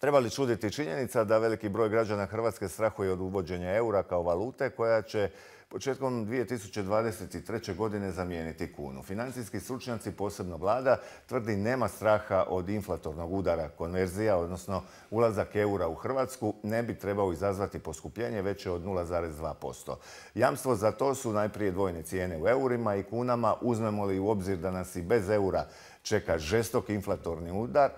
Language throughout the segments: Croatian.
Treba li čuditi činjenica da veliki broj građana Hrvatske strahuje od uvođenja eura kao valute koja će početkom 2023. godine zamijeniti kunu? Financijski stručnjaci, posebno vlada, tvrdi nema straha od inflatornog udara. Konverzija, odnosno ulazak eura u Hrvatsku, ne bi trebao izazvati poskupljenje veće od 0,2%. Jamstvo za to su najprije dvojne cijene u eurima i kunama. Uzmemo li u obzir da nas i bez eura čeka žestok inflatorni udar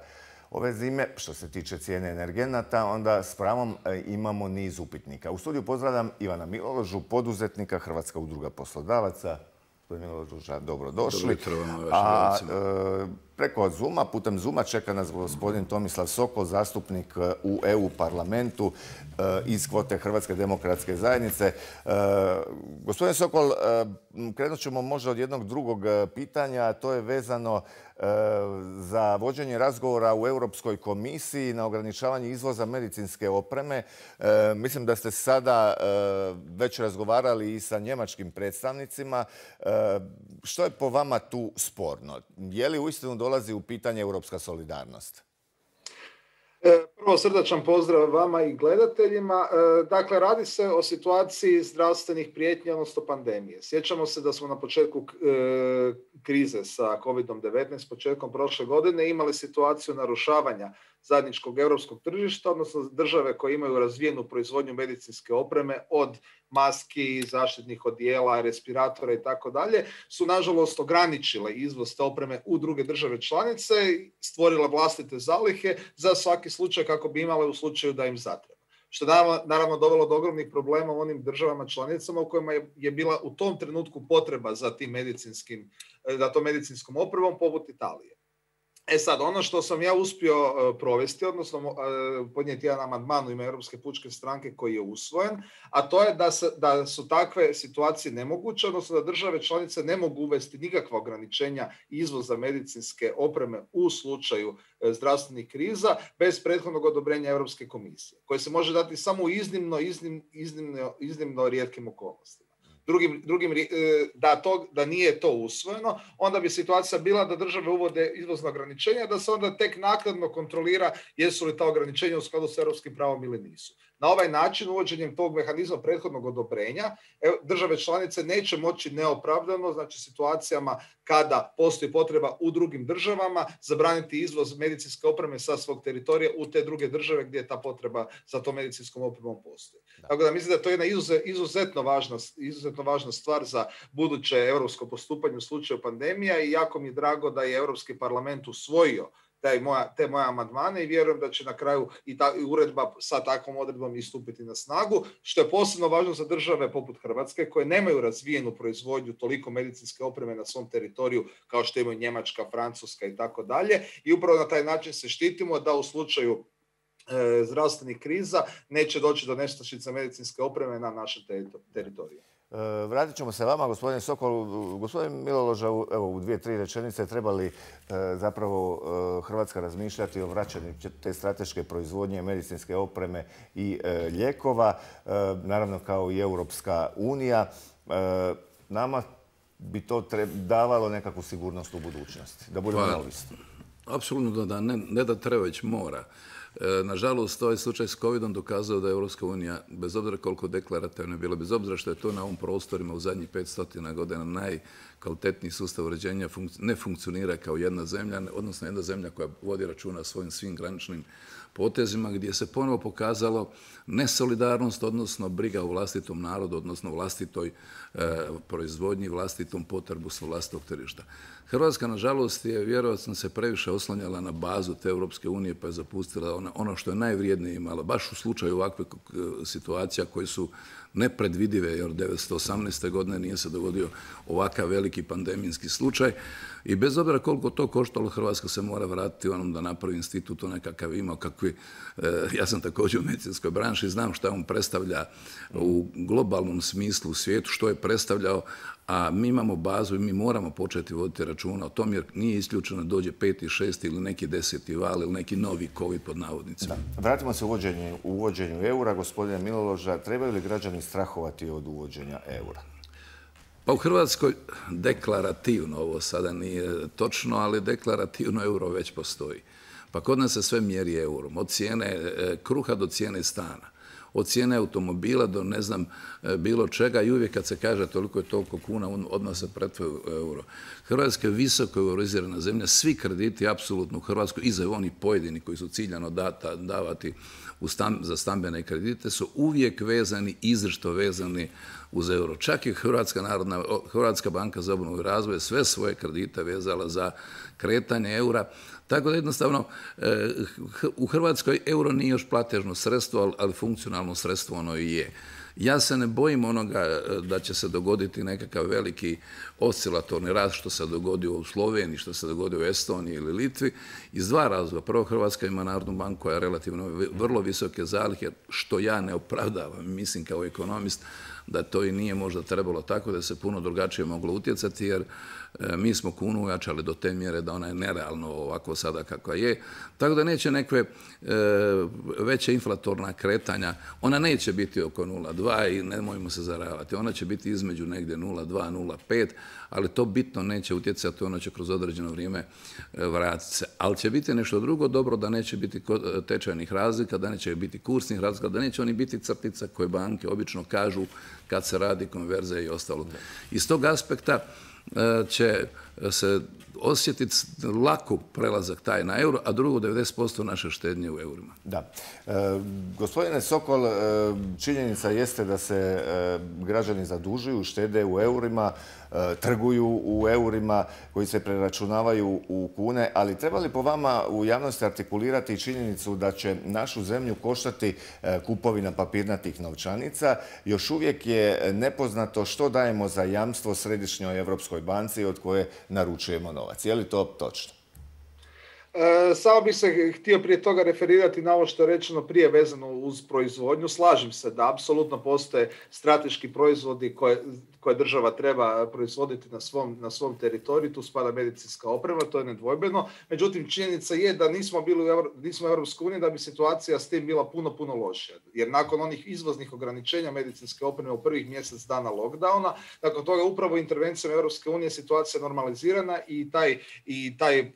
ove zime, što se tiče cijene energenata, onda s pravom imamo niz upitnika. U studiju pozdravljam Ivana Miloložu, poduzetnika, Hrvatska udruga poslodavaca. Gospodin Miloloža, dobrodošli. A preko Zooma, putem Zooma čeka nas gospodin Tomislav Sokol, zastupnik u EU parlamentu iz kvote Hrvatske demokratske zajednice. Gospodin Sokol, krenut ćemo možda od jednog drugog pitanja, a to je vezano za vođenje razgovora u Europskoj komisiji na ograničavanje izvoza medicinske opreme. Mislim da ste sada već razgovarali i sa njemačkim predstavnicima. Što je po vama tu sporno? Je li uistinu dolazi u pitanje europska solidarnost? Prvo srdačan pozdrav vama i gledateljima. Dakle, radi se o situaciji zdravstvenih prijetnji, odnosno pandemije. Sjećamo se da smo na početku krize sa COVID-19, početkom prošle godine, imali situaciju narušavanja zajedničkog europskog tržišta, odnosno države koje imaju razvijenu proizvodnju medicinske opreme od maski, zaštitnih odijela, respiratora i tako dalje, su nažalost ograničile izvoz te opreme u druge države članice i stvorile vlastite zalihe za svaki slučaj kako bi imale u slučaju da im zatreba. Što je naravno dovelo do ogromnih problema u onim državama članicama u kojima je bila u tom trenutku potreba za tom medicinskom opremom, poput Italije. Sad, ono što sam ja uspio provesti, odnosno podnijeti jedan amandman u ime Europske pučke stranke koji je usvojen, a to je da su takve situacije nemoguće, odnosno da države članice ne mogu uvesti nikakva ograničenja izvoza medicinske opreme u slučaju zdravstvenih kriza bez prethodnog odobrenja Europske komisije, koje se može dati samo u iznimno rijetkim okolnostima. Da nije to usvojeno, onda bi situacija bila da države uvode izvozna ograničenja, da se onda tek naknadno kontrolira jesu li ta ograničenja u skladu s europskim pravom ili nisu. Na ovaj način, uvođenjem tog mehanizma prethodnog odobrenja, države članice neće moći neopravdano, znači situacijama kada postoji potreba u drugim državama, zabraniti izvoz medicinske opreme sa svog teritorija u te druge države gdje ta potreba za tom medicinskom opremom postoji. Tako da mislim da to je jedna izuzetno važna stvar za buduće europsko postupanje u slučaju pandemija i jako mi je drago da je Europski parlament usvojio te moje amandmane i vjerujem da će na kraju i uredba sa takvom odredbom i stupiti na snagu, što je posebno važno za države poput Hrvatske koje nemaju razvijenu proizvodnju toliko medicinske opreme na svom teritoriju kao što imaju Njemačka, Francuska i tako dalje. I upravo na taj način se štitimo da u slučaju zdravstvenih kriza neće doći do nestašica medicinske opreme na našem teritoriju. Vratit ćemo se vama, gospodine Sokol. Gospodin Miloloža, u 2-3 rečenice, treba li zapravo Hrvatska razmišljati o vraćanju te strateške proizvodnje medicinske opreme i lijekova, naravno kao i Europska unija. Nama bi to davalo nekakvu sigurnost u budućnosti, da budemo neovisni. Apsolutno da, ne da treba, već mora. Nažalost, ovaj slučaj s COVID-om dokazao da je Europska unija, bez obzira koliko deklarativno je bilo, bez obzira što je to na ovim prostorima u zadnjih 500 godina najkvalitetniji sustav uređenja, ne funkcionira kao jedna zemlja, odnosno jedna zemlja koja vodi računa o svojim svim graničnim potezima, gdje se ponovo pokazalo nesolidarnost, odnosno briga o vlastitom narodu, odnosno vlastitoj proizvodnji, vlastitom potrebu sa vlastitog tržišta. Hrvatska, nažalost, je vjerojatno se previše oslanjala na bazu te Europske unije pa je zapustila ono što je najvrijednije imala. Baš u slučaju ovakvih situacija koje su nepredvidive, jer 1918. godine nije se dogodio ovakav veliki pandemijski slučaj. I bez obzira koliko to koštalo, Hrvatska se mora vratiti onom da napravi institut onakav imao kakvi. Ja sam također u medicinskoj branši, znam šta on predstavlja u globalnom smislu u svijetu, što je predstavljao, a mi imamo bazu i mi moramo početi voditi računa o tom, jer nije isključeno da dođe 5. 6. ili neki 10. val ili neki novi COVID pod navodnicima. Vratimo se u uvođenju eura. Gospodine Miloloža, trebaju li građani strahovati od uvođenja eura? Pa u Hrvatskoj deklarativno, ovo sada nije točno, ali deklarativno euro već postoji. Pa kod nas se sve mjeri eurom, od cijene kruha do cijene stana, od cijene automobila do ne znam bilo čega i uvijek kad se kaže toliko je toliko kuna, odmah se pretvori u euro. Hrvatska je visoko euroizirana zemlja, svi krediti apsolutno u Hrvatskoj, i za oni pojedini koji su ciljano davati za stambene kredite, su uvijek vezani, izričito vezani uz euro. Čak i Hrvatska banka za obnovu i razvoj sve svoje kredite vezala za kretanje eura. Tako da jednostavno u Hrvatskoj euro nije još platežno sredstvo, ali funkcionalno sredstvo ono i je. Ja se ne bojim onoga da će se dogoditi nekakav veliki oscilatorni rast što se dogodio u Sloveniji, što se dogodio u Estoniji ili Litvi, iz dva razloga. Prvo, Hrvatska ima Narodnu banku koja je relativno vrlo visoke zalihe, što ja ne opravdavam, mislim kao ekonomist da to i nije možda trebalo tako, da se puno drugačije moglo utjecati, jer mi smo kunu ojačali do te mjere da ona je nerealno ovako sada kakva je. Tako da neće neke veće inflatorna kretanja, ona neće biti oko 0,2 i nemojmo se zaravati, ona će biti između negdje 0,2, 0,5, ali to bitno neće utjecati, ono će kroz određeno vrijeme vratiti se. Ali će biti nešto drugo dobro, da neće biti tečajnih razlika, da neće biti kursnih razlika, da neće oni biti crtica koje banke obično kažu kad se radi konverzija i ostalo. Iz tog aspekta će se osjetiti lako prelazak taj na euro, a drugo 90% naše štednje u eurima. Da. Gospodine Sokol, činjenica jeste da se građani zadužuju, štede u eurima, trguju u eurima koji se preračunavaju u kune, ali treba li po vama u javnosti artikulirati činjenicu da će našu zemlju koštati kupovina papirnatih novčanica? Još uvijek je nepoznato što dajemo za jamstvo Središnjoj Europskoj banci od koje naručujemo novac. Je li to točno? Samo bih se htio prije toga referirati na ovo što je rečeno prije vezano uz proizvodnju. Slažem se da apsolutno postoje strateški proizvodi koje država treba proizvoditi na svom teritoriju. Tu spada medicinska oprema, to je nedvojbeno. Međutim, činjenica je da nismo u Europskoj uniji, da bi situacija s tim bila puno, puno lošija. Jer nakon onih izvoznih ograničenja medicinske opreme u prvih mjesec dana lockdowna, nakon toga upravo intervencijom Europske unije situacija normalizirana i taj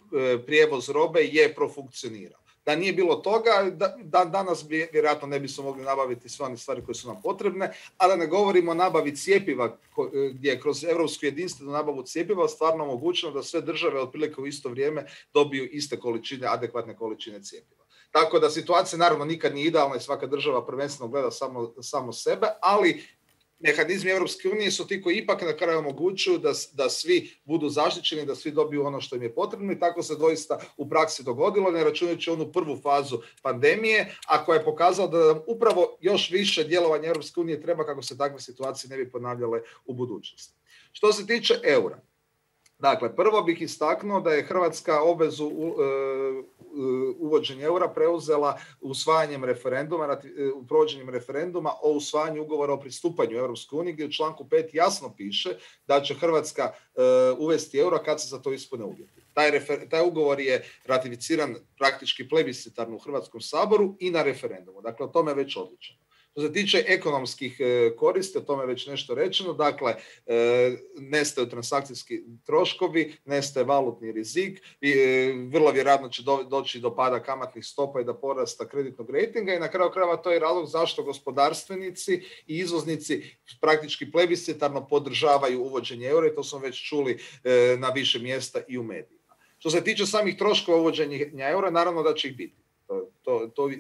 prijevoz robe je profunkcionirao. Da nije bilo toga, danas vjerojatno ne bismo mogli nabaviti sve one stvari koje su nam potrebne, a da ne govorimo o nabavi cjepiva, gdje je kroz europsku jedinstvenu nabavu cjepiva stvarno omogućeno da sve države otprilike u isto vrijeme dobiju iste količine, adekvatne količine cjepiva. Tako da situacija naravno nikad nije idealna i svaka država prvenstveno gleda samo sebe, ali mehanizmi Europske unije su ti koji ipak na kraju omogućuju da svi budu zaštićeni, da svi dobiju ono što im je potrebno, i tako se doista u praksi dogodilo, ne računajući onu prvu fazu pandemije, a koja je pokazala da nam upravo još više djelovanja Europske unije treba kako se takve situacije ne bi ponavljale u budućnosti. Što se tiče eura, dakle, prvo bih istaknuo da je Hrvatska obvezu uvođenja eura preuzela usvajanjem provođenjem referenduma o usvajanju ugovora o pristupanju Europskoj uniji, gdje u članku 5 jasno piše da će Hrvatska uvesti euro kad se za to ispune uvjeti. Taj ugovor je ratificiran praktički plebiscitarno u Hrvatskom saboru i na referendumu. Dakle, o tome je već odlučeno. Što se tiče ekonomskih koristi, o tome je već nešto rečeno, dakle, nestaju transakcijski troškovi, nestaje valutni rizik, vrlo vjerojatno će doći do pada kamatnih stopa i do porasta kreditnog rejtinga, i na kraju krajeva to je razlog zašto gospodarstvenici i izvoznici praktički plebiscitarno podržavaju uvođenje eura, i to smo već čuli na više mjesta i u medijima. Što se tiče samih troškova uvođenja eura, naravno da će ih biti.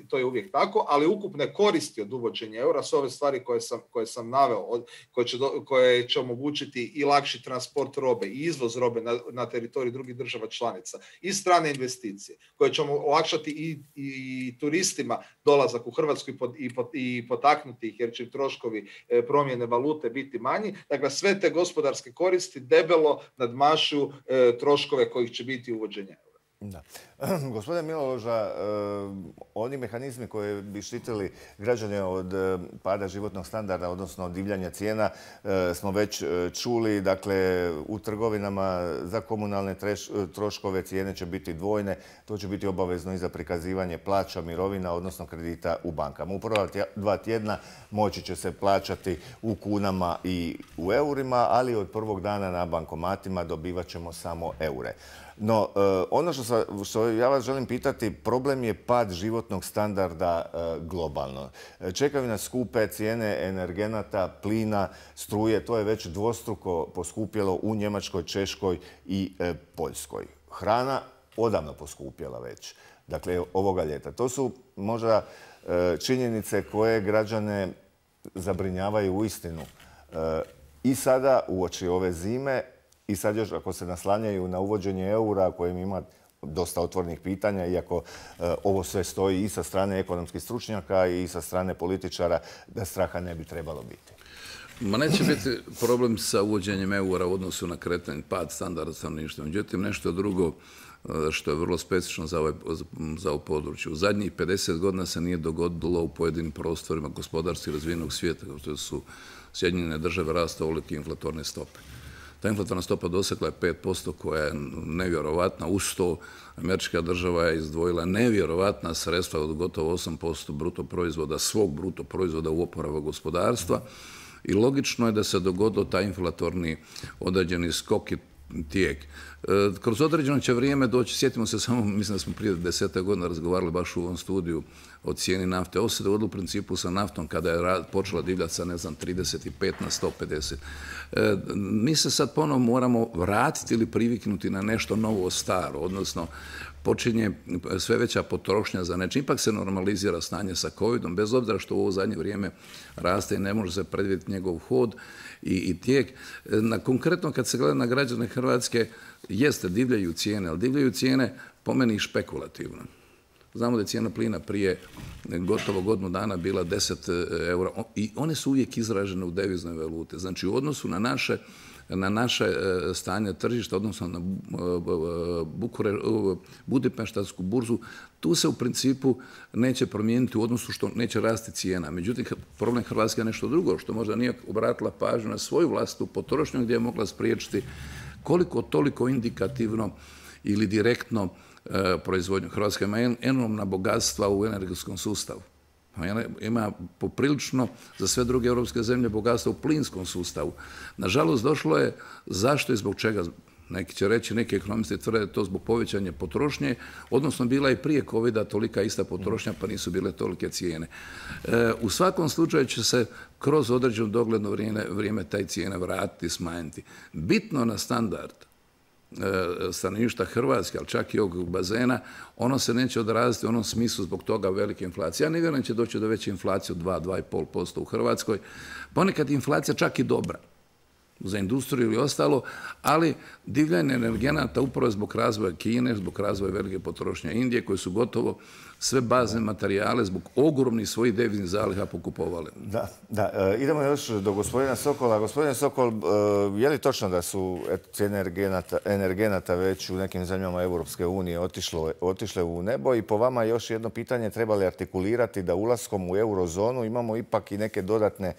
To je uvijek tako, ali ukupne koristi od uvođenja eura su ove stvari koje sam naveo, koje će omogućiti i lakši transport robe i izvoz robe na teritoriju drugih država članica, i strane investicije, koje će olakšati i turistima dolazak u Hrvatsku i potaknuti ih, jer će troškovi promjene valute biti manji. Dakle, sve te gospodarske koristi debelo nadmašuju troškove kojih će biti uvođenje eura. Da. Gospodine Miloloža, oni mehanizmi koji bi štitili građane od pada životnog standarda, odnosno od divljanja cijena, smo već čuli. Dakle, u trgovinama za komunalne troškove cijene će biti dvojne. To će biti obavezno i za prikazivanje plaća, mirovina, odnosno kredita u bankama. U prva 2 tjedna moći će se plaćati u kunama i u eurima, ali od prvog dana na bankomatima dobivat ćemo samo eure. No, ono što ja vas želim pitati, problem je pad životnog standarda globalno. Čekaju nas skupe cijene energenata, plina, struje, to je već dvostruko poskupjelo u Njemačkoj, Češkoj i Poljskoj. Hrana odavno poskupjela već, dakle ovoga ljeta. To su možda činjenice koje građane zabrinjavaju uistinu. I sada uoči ove zime, i sad još ako se naslanjaju na uvođenje eura kojim ima dosta otvorenih pitanja, iako ovo sve stoji i sa strane ekonomskih stručnjaka i sa strane političara, da straha ne bi trebalo biti. Ma neće biti problem sa uvođenjem eura u odnosu na kretanje, pad standarda stanovništva. Međutim, nešto drugo što je vrlo specifično za ovo područje. U zadnjih 50 godina se nije dogodilo u pojedinim prostorima gospodarski razvijenog svijeta, kao što su Sjedinjene Države, rasta ovolike inflatorne stope. Ta inflatorna stopa dosegla je 5%, koja je nevjerovatna. Uz to američka država je izdvojila nevjerovatna sredstva od gotovo 8% bruto proizvoda, svog bruto proizvoda u oporavak gospodarstva. I logično je da se dogodio taj inflatorni određeni skok i tijek. Kroz određeno će vrijeme doći, sjetimo se samo, mislim da smo prije 10 godina razgovarali baš u ovom studiju o cijeni nafte. Ovo se dogodilo u principu sa naftom kada je počela divljati sa, 35 na 150. Mi se sad ponovo moramo vratiti ili priviknuti na nešto novo staro, odnosno počinje sve veća potrošnja za nečim. Ipak se normalizira stanje sa covidom, bez obzira što u ovo zadnje vrijeme raste i ne može se predvidjeti njegov hod i tijek. Konkretno kad se gleda na građane Hrvatske, jeste, divljaju cijene, ali divljaju cijene po meni špekulativno. Znamo da je cijena plina prije gotovo godinu dana bila 10 eura i one su uvijek izražene u deviznoj valute. Znači u odnosu na naše stanje tržišta, odnosno na Budimpeštansku burzu, tu se u principu neće promijeniti u odnosu što neće rasti cijena. Međutim, problem Hrvatske je nešto drugo, što možda nije obratila pažnju na svoju vlastitu potrošnju gdje je mogla spriječiti koliko toliko indikativno ili direktno proizvodnju. Hrvatska ima enormna bogatstva u energetskom sustavu. Ima poprilično za sve druge europske zemlje bogatstva u plinskom sustavu. Nažalost, došlo je zašto i zbog čega. Neki će reći, neki ekonomisti tvrde to zbog povećanja potrošnje, odnosno bila je prije covida tolika ista potrošnja pa nisu bile tolike cijene. U svakom slučaju će se kroz određeno dogledno vrijeme taj cijene vratiti i smanjiti. Bitno na standard stanovništva Hrvatske, ali čak i ovog bazena, ono se neće odraziti u onom smislu zbog toga velike inflacije. Ja ne vjerujem da će doći do veće inflacije od 2-2,5% u Hrvatskoj. Ponekad je inflacija čak i dobra za industriju ili ostalo, ali divljanje energenata upravo zbog razvoja Kine, zbog razvoja velike potrošnje Indije, koje su gotovo sve bazne materijale zbog ogromnih svojih deviznih zaliha pokupovali. Da. Idemo još do gospodina Sokola. Gospodine Sokol, je li točno da su cijene energenata već u nekim zemljama Europske unije otišle u nebo? I po vama još jedno pitanje, treba li artikulirati da ulaskom u eurozonu imamo ipak i neke dodatne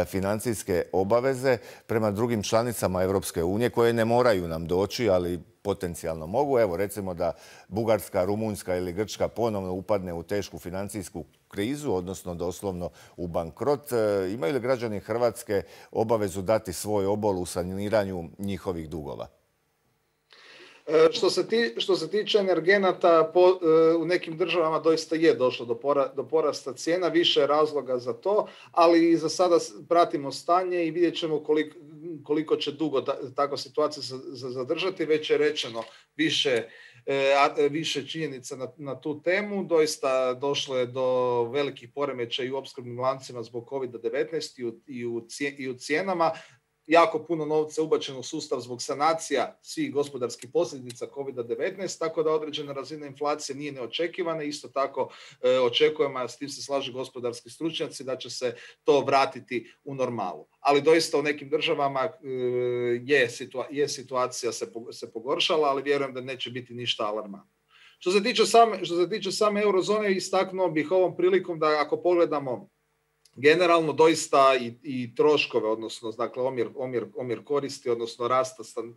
financijske obaveze prema drugim članicama Europske unije koje ne moraju nam doći, ali potencijalno mogu. Evo, recimo da Bugarska, Rumunjska ili Grčka ponovno upadne u tešku financijsku krizu, odnosno doslovno u bankrot. Imaju li građani Hrvatske obavezu dati svoj obol u saniranju njihovih dugova? Što se tiče energenata, u nekim državama doista je došlo do porasta cijena, više je razloga za to, ali za sada pratimo stanje i vidjet ćemo koliko će dugo takva situacija zadržati. Već je rečeno više činjenica na tu temu. Doista došlo je do velikih poremećaja i u opskrbnim lancima zbog COVID-19 i u cijenama. Jako puno novca ubačeno u sustav zbog sanacija svih gospodarskih posljedica COVID-19, tako da određena razina inflacije nije neočekivana. Isto tako očekujemo, a s tim se slažu gospodarski stručnjaci, da će se to vratiti u normalu. Ali doista u nekim državama situacija se pogoršala, ali vjerujem da neće biti ništa alarmantno. Što se tiče same eurozone, istaknuo bih ovom prilikom da ako pogledamo generalno doista i troškove, odnosno dakle, omjer koristi, odnosno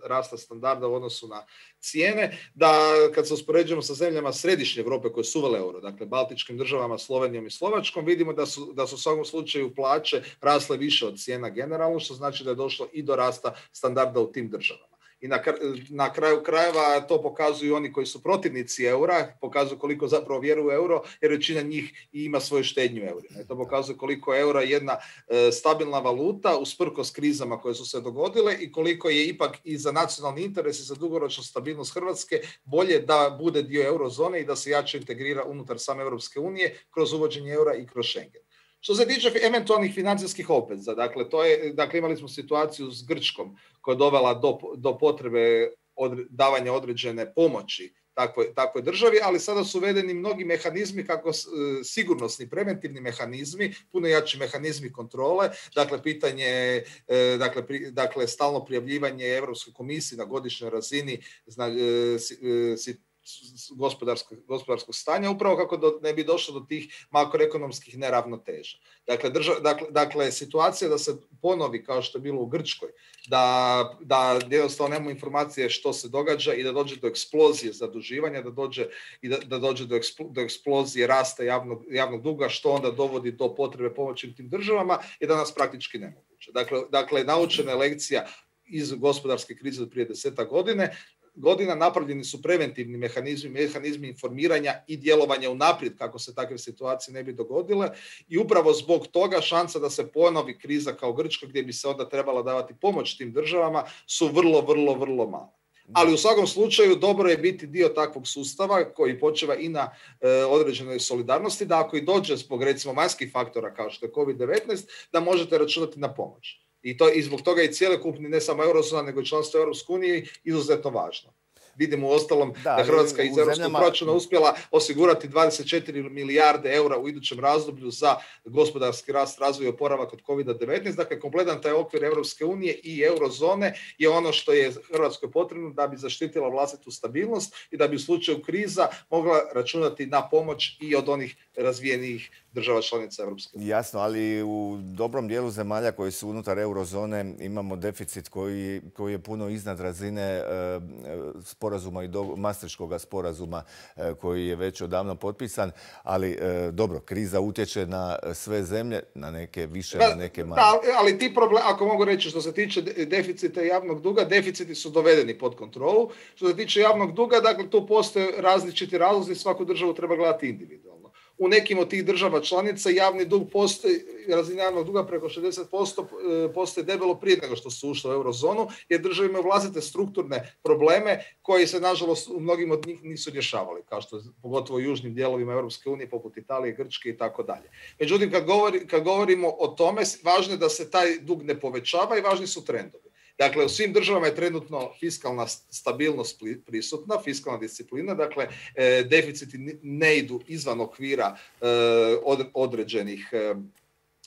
rasta standarda u odnosu na cijene, da kad se uspoređujemo sa zemljama središnje Europe koje su uvele euro, dakle Baltičkim državama, Slovenijom i Slovačkom, vidimo da su u svakom slučaju plaće rasle više od cijena generalno, što znači da je došlo i do rasta standarda u tim državama. I na kraju krajeva to pokazuju oni koji su protivnici eura, pokazuju koliko zapravo vjeruju u euro, jer većina njih ima svoju štednju u eurima. I to pokazuje koliko je euro jedna stabilna valuta usprkos krizama koje su se dogodile i koliko je ipak i za nacionalni interes i za dugoročnu stabilnost Hrvatske bolje da bude dio eurozone i da se jače integrira unutar same Europske unije kroz uvođenje eura i kroz Schengen. Što se tiče eventualnih financijskih obveza, dakle imali smo situaciju s Grčkom koja je dovela do potrebe davanja određene pomoći takvoj državi, ali sada su uvedeni mnogi mehanizmi, kako sigurnosni, preventivni mehanizmi, puno jači mehanizmi kontrole, dakle pitanje, dakle stalno prijavljivanje Europskoj komisiji na godišnjoj razini gospodarskog stanja, upravo kako ne bi došlo do tih makroekonomskih neravnoteža. Dakle, situacija da se ponovi kao što je bilo u Grčkoj, da jednostavno nemamo informacije što se događa i da dođe do eksplozije zaduživanja, da dođe do eksplozije rasta javnog duga, što onda dovodi do potrebe pomoći tim državama, je danas praktički nemoguće. Dakle, naučena je lekcija iz gospodarske krize od prije 10 godina, napravljeni su preventivni mehanizmi informiranja i djelovanja unaprijed kako se takve situacije ne bi dogodile i upravo zbog toga šansa da se ponovi kriza kao Grčka gdje bi se onda trebala davati pomoć tim državama su vrlo male. Ali u svakom slučaju dobro je biti dio takvog sustava koji počeva i na određenoj solidarnosti, da ako i dođe zbog recimo vanjskih faktora kao što je COVID-19, da možete računati na pomoć. I zbog toga je cjelokupni, ne samo eurozona, nego i članstvo Europske unije izuzetno važno. Vidimo uostalom da Hrvatska iz europskog proračuna uspjela osigurati 24 milijarde eura u idućem razdoblju za gospodarski rast, razvoj i oporavak od COVID-19. Dakle, kompletan taj okvir Europske unije i eurozone je ono što je Hrvatskoj potrebno da bi zaštitila vlastitu stabilnost i da bi u slučaju kriza mogla računati na pomoć i od onih razvijenijih država članica Europske unije. Jasno, ali u dobrom dijelu zemalja koji su unutar eurozone imamo deficit koji je puno iznad razine sporazuma i Maastrichtskoga sporazuma koji je već odavno potpisan, ali dobro, kriza utječe na sve zemlje, na neke više, na neke manje. Ali ti problemi, ako mogu reći što se tiče deficita javnog duga, deficiti su dovedeni pod kontrolu. Što se tiče javnog duga, dakle tu postoje različiti razlozi, svaku državu treba gledati individualno. U nekim od tih država članica javni dug postoji, razina javnog duga preko 60% postoji debelo prije nego što su ušle u eurozonu, jer države imaju vlastite strukturne probleme koji se, nažalost, u mnogim od njih nisu rješavali, kao što je pogotovo u južnim dijelovima Europske unije, poput Italije, Grčke i tako dalje. Međutim, kad govorimo o tome, važno je da se taj dug ne povećava i važni su trendovi. Dakle, u svim državama je trenutno fiskalna stabilnost prisutna, fiskalna disciplina, dakle, deficiti ne idu izvan okvira određenih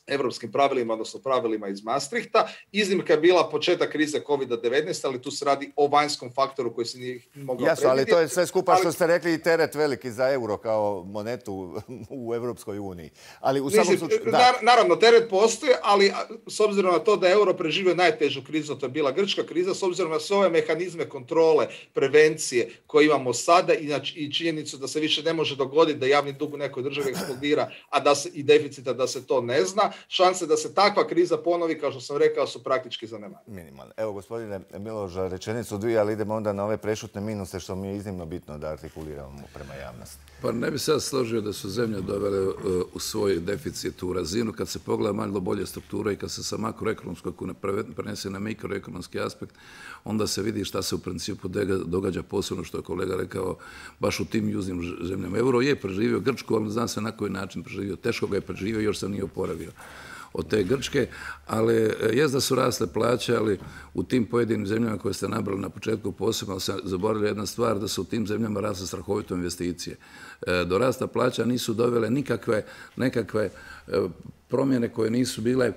europskim pravilima, odnosno pravilima iz Maastrichta. Iznimka je bila početak krize COVID-19, ali tu se radi o vanjskom faktoru koji se nije mogao predvidjeti. Ali to je sve skupa što ste rekli i teret veliki za euro kao monetu u Europskoj uniji. Ali u samom slučaju... Naravno, teret postoji, ali s obzirom na to da je euro preživio najtežu krizu, to je bila grčka kriza, s obzirom na sve ove mehanizme kontrole, prevencije koje imamo sada i činjenicu da se više ne može dogoditi da javni dug u nekoj državi eksplodira, i deficita da se to ne zna, šanse da se takva kriza ponovi, kao što sam rekao, su praktički zanemarene. Minimalne. Evo, gospodine Miloša, rečenicu dvije, ali idemo onda na ove prešutne minuse, što mi je iznimno bitno da artikuliramo prema javnosti. Pa ne bi se ja složio da su zemlje dovele u svoj deficit u razinu. Kad se pogleda malo bolje struktura i kad se sa makroekonomskog prenese na mikroekonomski aspekt, onda se vidi šta se u principu događa, posebno što je kolega rekao, baš u tim južnim zemljama. Euro je preživio Grčku, ali zna se na koji način preživio. Teško ga je preživio, još se nije oporavio od te Grčke, ali jest da su rasle plaće, ali u tim pojedinim zemljama koje ste nabrali na početku posebno se zaboravili jedna stvar, da su u tim zemljama rasle strahovito investicije. Do rasta plaća nisu dovele nekakve promjene koje nisu bile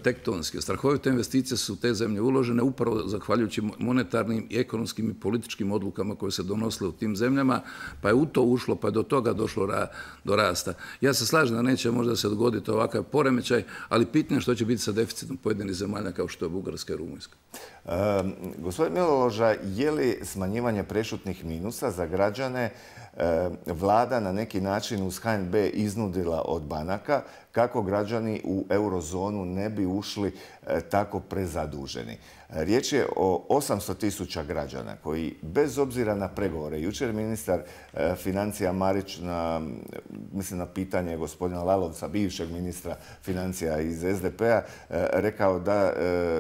tektonske. Strahovite investicije su u te zemlje uložene upravo zahvaljujući monetarnim i ekonomskim i političkim odlukama koje se donosile u tim zemljama, pa je u to ušlo, pa je do toga došlo do rasta. Ja se slažem da neće možda se dogoditi ovakav poremećaj, ali pitanje što će biti sa deficitom pojedinih zemalja kao što je Bugarska i Rumunjska. Gospodin Miloša, je li smanjivanje prešutnih minusa za građane vlada na neki način uz HNB iznudila od banaka kako građani u eurozonu ne bi ušli tako prezaduženi. Riječ je o 800.000 građana koji, bez obzira na pregovore, jučer je ministar financija Marić mislim na pitanje gospodina Lalovca, bivšeg ministra financija iz SDP-a, rekao da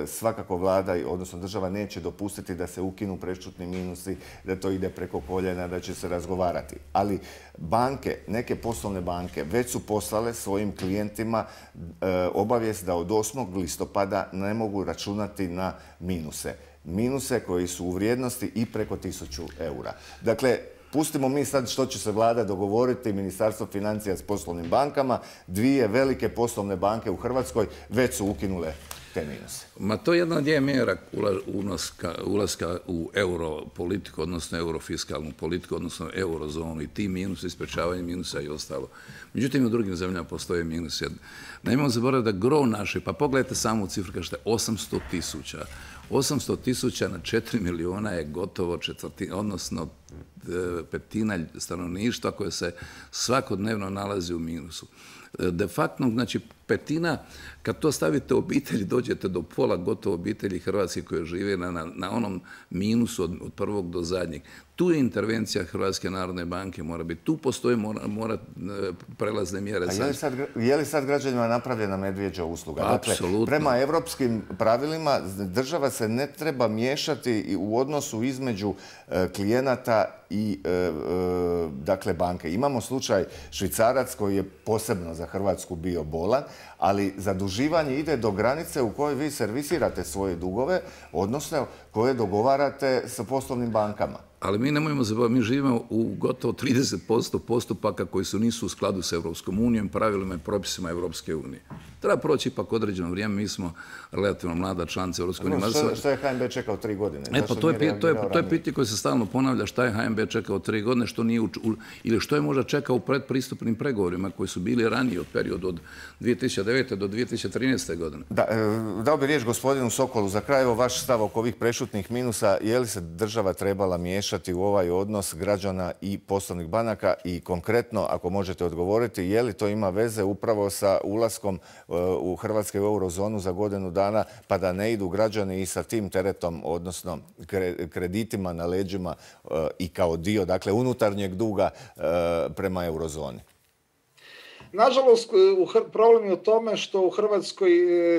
svakako vlada, odnosno država, neće dopustiti da se ukinu prešutni minusi, da to ide preko koljena, da će se razgovarati. Ali banke, neke poslovne banke, već su poslale svojim klijentima obavijest da od 8. listopada ne mogu računati na minuse. Minuse koji su u vrijednosti i preko 1000 eura. Dakle, pustimo mi sad što će se vlada dogovoriti, Ministarstvo financija s poslovnim bankama. Dvije velike poslovne banke u Hrvatskoj već su ukinule te minuse. Ma to je jedna od mjera ulaska u europolitiku, odnosno eurofiskalnu politiku, odnosno eurozonu i ti minusi, isprečavanje minusa i ostalo. Međutim, u drugim zemljama postoje minusi. Nemojmo zaboraviti da gro naše, pa pogledajte samo cifru, kažete 800.000. 800.000 na 4 milijuna je gotovo četvrtina, odnosno petina stanovništva koje se svakodnevno nalazi u minusu. De facto, znači petina, kad to stavite u obitelji, dođete do pola gotovo obitelji Hrvatske koje žive na onom minusu od prvog do zadnjeg. Tu je intervencija Hrvatske narodne banke mora biti. Tu postoje mora prelazne mjere. A je li sad građanima napravljena medvjeđa usluga? Apsolutno. Dakle, prema evropskim pravilima država se ne treba miješati u odnosu između klijenata i dakle banke. Imamo slučaj Švicarac koji je posebno za Hrvatsku bio bolan, ali zaduživanje ide do granice u kojoj vi servisirate svoje dugove, odnosno koje dogovarate sa poslovnim bankama. Ali mi nemojmo zaboraviti, mi živimo u gotovo 30% postupaka koji nisu u skladu s Europskom unijom, pravilima i propisima Europske unije. Treba proći ipak određeno vrijeme, mi smo relativno mlada članica Europske unije. Što je HNB čekao 3 godine? To je pitanje koje se stalno ponavlja, šta je HNB čekao 3 godine, što nije ili što je možda čekao u predpristupnim pregovorima koji su bili ranije od periodu od 2009. do 2013. godine. Dao bi riječ gospodinu Sokolu. Za kraj, vaš stav oko ovih prešutnih minusa, je li se država trebala miješati u ovaj odnos građana i poslovnih banaka i konkretno, ako možete odgovoriti, je li to ima veze upravo sa ulaskom u Hrvatske u eurozonu za godinu dana, pa da ne idu građani i sa tim teretom, odnosno kreditima na leđima i kao dio, dakle, unutarnjeg duga prema eurozoni? Nažalost, problem je u tome što u Hrvatskoj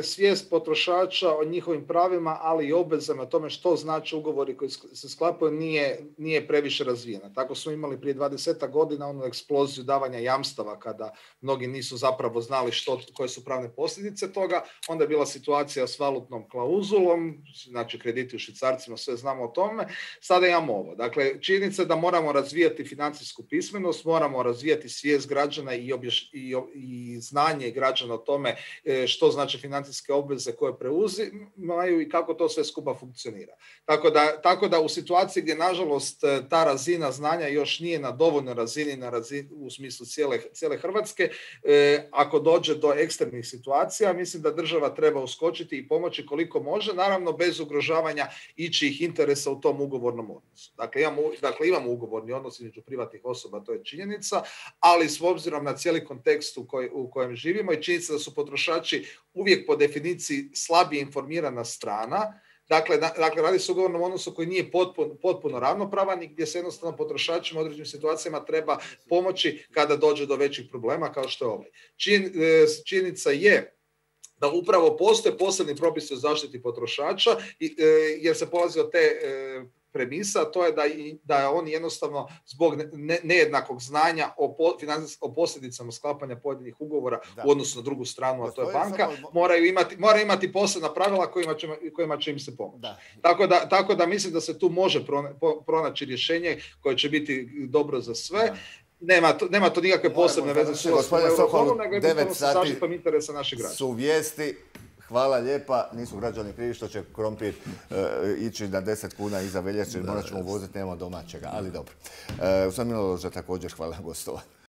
svijest potrošača o njihovim pravima, ali i obvezama, o tome što znači ugovori koji se sklapaju, nije previše razvijena. Tako smo imali prije 20 godina onu eksploziju davanja jamstava kada mnogi nisu zapravo znali koje su pravne posljedice toga. Onda je bila situacija s valutnom klauzulom, znači krediti u švicarcima, sve znamo o tome. Sada imamo ovo. Dakle, činjenica je da moramo razvijati financijsku pismenost, moramo razvijati svijest građana i znanje građana o tome što znači financijske obveze koje preuzimaju i kako to sve skupa funkcionira. Tako da u situaciji gdje nažalost ta razina znanja još nije na dovoljnoj razini, u smislu cijele Hrvatske, ako dođe do ekstremnih situacija, mislim da država treba uskočiti i pomoći koliko može, naravno bez ugrožavanja ičijih interesa u tom ugovornom odnosu. Dakle, imamo ugovorni odnos između privatnih osoba, to je činjenica, ali s obzirom na cijeli kontekst u kojem živimo i činjenica da su potrošači uvijek po definiciji slabije informirana strana. Dakle, radi se o ugovornom odnosu koji nije potpuno ravnopravan i gdje se jednostavno potrošačima u određenim situacijama treba pomoći kada dođe do većih problema kao što je ovaj. Činjenica je da upravo postoje posebni propisi o zaštiti potrošača jer se polazi od te premisa, to je da oni jednostavno zbog nejednakog znanja o posljedicama sklapanja pojedinih ugovora u odnosu na drugu stranu, a to je banka, moraju imati posebna pravila kojima će im se pomoći. Tako da mislim da se tu može pronaći rješenje koje će biti dobro za sve. Nema to nikakve posebne veze s Eurozonom, nego je bitno sa zaštitom interesa naših građana. Su vijesti. Hvala lijepa. Nisu građani krivi što će krompir ići na 10 kuna iza veljače, morat ćemo uvoziti, nemamo domaćega, ali dobro. Ustav Miloloža također hvala gostova.